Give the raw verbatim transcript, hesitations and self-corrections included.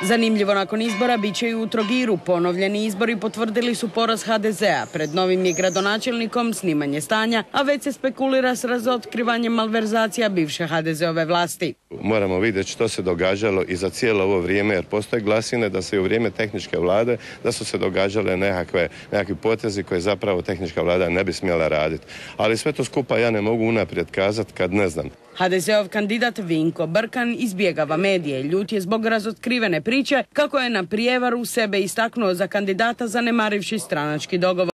Zanimljivo, nakon izbora bit će i u Trogiru. Ponovljeni izbori potvrdili su poraz ha de zea. Pred novim je gradonačelnikom snimanje stanja, a već se spekulira s razotkrivanjem malverzacija bivše ha de zeove vlasti. Moramo vidjeti što se događalo i za cijelo ovo vrijeme, jer postoje glasine da se i u vrijeme tehničke vlade da su se događale nekakve, nekakvi potezi koje zapravo tehnička vlada ne bi smjela raditi. Ali sve to skupa ja ne mogu unaprijed kazati kad ne znam. ha de zeov kandidat Vinko Brkan izbjegava medije. Ljut je zbog razotkrivene priče kako je na prijevaru sebe istaknuo za kandidata zanemarivši stranački dogovor.